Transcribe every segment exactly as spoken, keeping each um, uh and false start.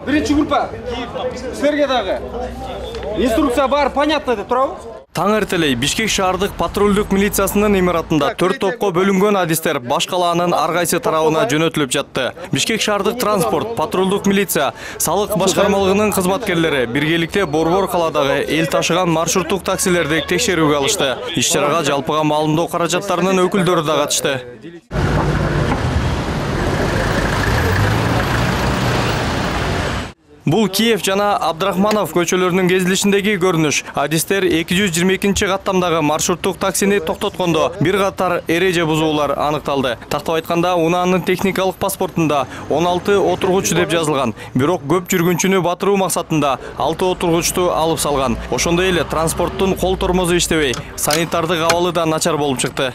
Биринчи группа. Силерге дагы инструкция бар, понятно деп турабы? Таң эртелей Бишкек шаардык патрулдук милициясынын имаратында төрт топко бөлүнгөн адистер баш калаанын ар кайсы тарабына жөнөтүлүп жатты. Бишкек шаардык транспорт, патрулдук милиция, салык башкармалыгынын кызматкерлери биргеликте Борбор каладагы эл ташыган маршруттук таксилерди текшерүүгө алышты. Иш-чарага жалпыга маалымдоо каражаттарынын өкүлдөрү да катышты. Бул Киев жана Абдрахманов көчөлөрүнүн кезилишиндеги көрүнүш. Адистер эки жүз жыйырма экинчи каттамдагы маршруттук таксини токтоткондо бир катар эреже бузуулар аныкталды. Тактап айтканда, унаанын техникалык паспортунда он алты отургуч деп жазылган. Бирок көп жүргүнчүнү батыруу максатында алты отургучту алып салган. Ошондой эле транспорттун кол тормозу иштебей, санитардык абалы да начар болуп чыкты.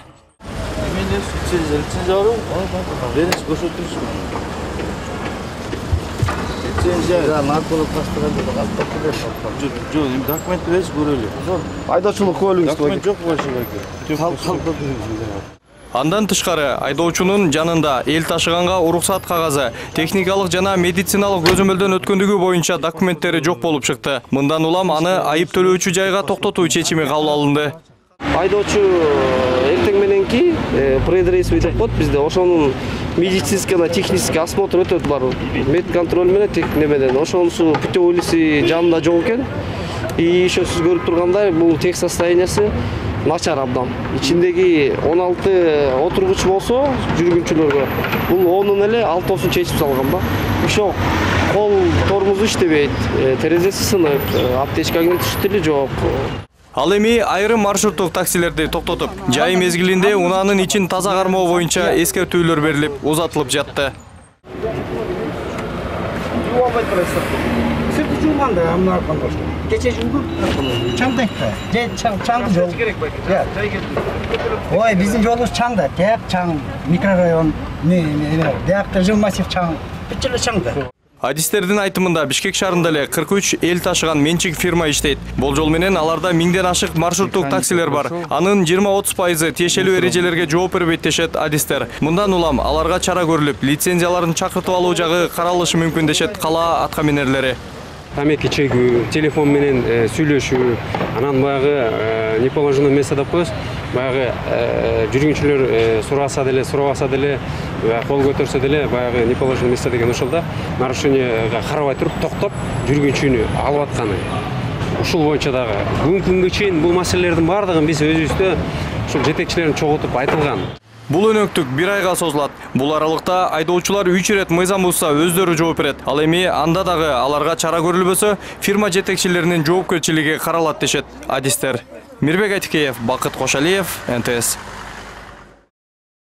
Айдоочулук куәлигиңиз жок болушу Андан тышкары айдоочунун жанында эл ташыганга уруксат кагазы, техникалык жана медициналык көзөмөлдөн өткөндүгү боюнча документтери жок болуп чыкты. Мындан улам аны айып төлөөчү жайга токтотуу чечими кабыл алынды. Айдоочу эртең мененки предрейсовый деп коет бизде, ошонун медицинский жана технический осмотр өтөт бар. Медконтроль менен тех немеден. Ошонусу путевойлиси жанында жок экен. И ошо сиз көрүп тургандай, бул тех состояниясы начар абдан. Ичиндеги он алты отургуч болсо жүргүнчүлөргө, бул онун эле алтысын чечип салган да. Ошо кол тормозу иштебейт, терезеси сынык, аптечка киргизиштили жок. Ал эми айрым маршруттук таксилерди токтотуп, жай мезгилинде унаанын ичин таза кармоо боюнча эскертүүлөр берилип, узатылып жатты. Кече жумду чаңдайкта, же чаңды жол. Ой, биздин жолубуз чаң да, теп чаң, микрорайон, биякта жыл массив чаң, бүт эле чаң да. Адистердин айтымында Бишкек шаарында эле кырк үч эл ташыган менчик фирма иштейт. Болжол менен аларда миңден ашык маршруттук таксилер бар. Анын жыйырма отуз пайызы тиешелүү эрежелерге жооп бербейт дешет адистер. Мындан улам аларга чара көрүлүп, лицензияларын чакыртып алуу жагы каралышы мүмкүн дешет кала аткаминерлери. Тамеки чегүү, телефон менен сүйлөшүү, анан баягы неположенное место деп коебуз. Баягы жүргүнчүлөр сураса деле, сурабаса деле, кол көтөрсө деле, баягы неположенное место деген ошол да нарушениега карабай туруп токтоп, жүргүнчүнү алып атканы. Ушул боюнча дагы бүгүнкү күнгө чейин бул маселелердин баардыгын биз өзүбүздө ушул жетекчилерин чогултуп айтылган. Бул өнөктүк бир айга созулат. Бул аралыкта айдоочулар үч ирет мыйзам бузса өздөрү жооп берет. Ал эми анда дагы аларга чара көрүлбөсө, фирма жетекчилеринин жоопкерчилиги каралат дешет адистер. Мирбек Айтикеев, Бакыт Кошалиев, эн тэ эс.